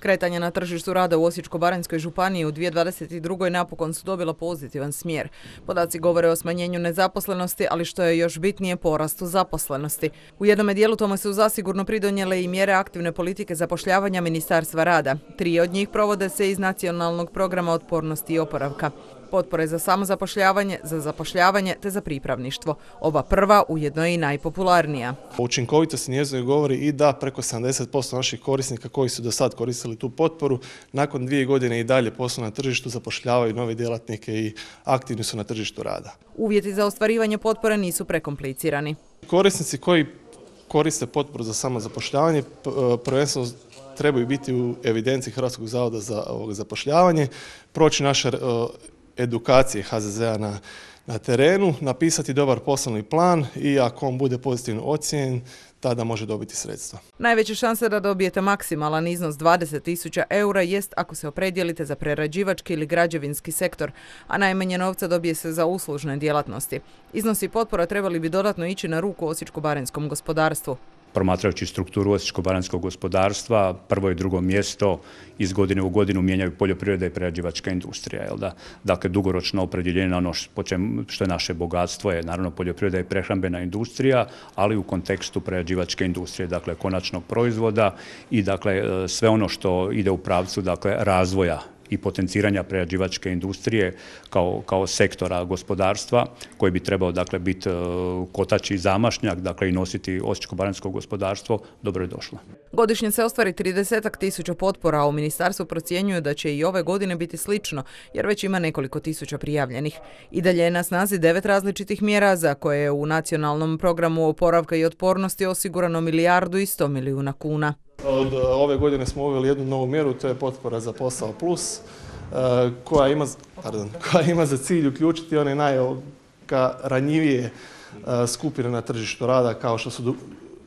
Kretanje na tržištu rada u Osječko-baranjskoj županiji u 2022. napokon su dobila pozitivan smjer. Podaci govore o smanjenju nezaposlenosti, ali što je još bitnije, porastu zaposlenosti. U jednom dijelu tome su zasigurno pridonijele i mjere aktivne politike zapošljavanja Ministarstva rada. 3 od njih provode se iz Nacionalnog programa otpornosti i oporavka. Potpore za samozapošljavanje, za zapošljavanje te za pripravništvo. Ova prva ujedno je i najpopularnija. Učinkovitost njezine govori i da preko 70% naših korisnika koji su do sad koristili tu potporu, nakon 2 godine i dalje poslu na tržištu, zapošljavaju nove djelatnike i aktivni su na tržištu rada. Uvjeti za ostvarivanje potpore nisu prekomplicirani. Korisnici koji koriste potporu za samozapošljavanje prvenstveno trebaju biti u evidenciji Hrvatskog zavoda za zapošljavanje, proći naše edukacije HZZ-a na terenu, napisati dobar poslovni plan i ako on bude pozitivno ocijenjen, tada može dobiti sredstva. Najveća šansa da dobijete maksimalan iznos 20.000 eura jest ako se opredijelite za prerađivački ili građevinski sektor, a najmanje novca dobije se za uslužne djelatnosti. Iznosi potpora trebali bi dodatno ići na ruku osječko-baranjskom gospodarstvu. Promatrajući strukturu osječko-baranjskog gospodarstva, prvo i drugo mjesto iz godine u godinu mijenjaju poljoprivreda i prerađivačka industrija. Dakle, dugoročno opredjeljenje na ono što je naše bogatstvo je naravno poljoprivreda i prehrambena industrija, ali u kontekstu prerađivačke industrije, dakle konačnog proizvoda i dakle sve ono što ide u pravcu razvoja i potenciranja prerađivačke industrije kao sektora gospodarstva koji bi trebao biti kotač i zamašnjak i nositi osječko-baranjsko gospodarstvo, dobro je došlo. Godišnje se ostvari 30.000 potpora, a u ministarstvu procjenjuju da će i ove godine biti slično, jer već ima nekoliko tisuća prijavljenih. I dalje je na snazi 9 različitih mjera za koje je u Nacionalnom programu oporavka i otpornosti osigurano 1,1 milijardu kuna. Od ove godine smo uveli jednu novu mjeru, to je potpora za posao plus, koja ima za cilj uključiti one najranjivije skupine na tržištu rada, kao što su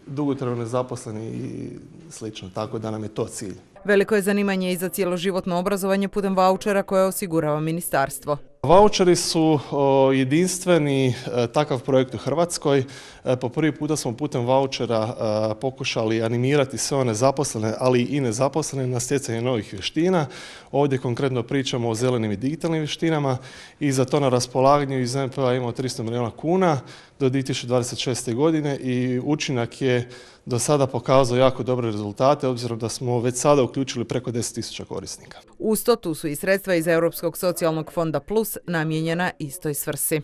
dugotrajno nezaposleni i slično, tako da nam je to cilj. Veliko je zanimanje i za cjeloživotno obrazovanje putem vaučera koje osigurava ministarstvo. Vaučeri su jedinstveni takav projekt u Hrvatskoj. Po prvi puta smo putem vaučera pokušali animirati sve one zaposlene, ali i nezaposlene na stjecanje novih vještina. Ovdje konkretno pričamo o zelenim i digitalnim vještinama i za to na raspolaganju iz NPO-a imamo 300 milijuna kuna do 2026. godine i učinak je do sada pokazao jako dobre rezultate, obzirom da smo već sada uključili preko 10.000 korisnika. Uz to tu su i sredstva iz Europskog socijalnog fonda Plus namijenjena istoj svrsi.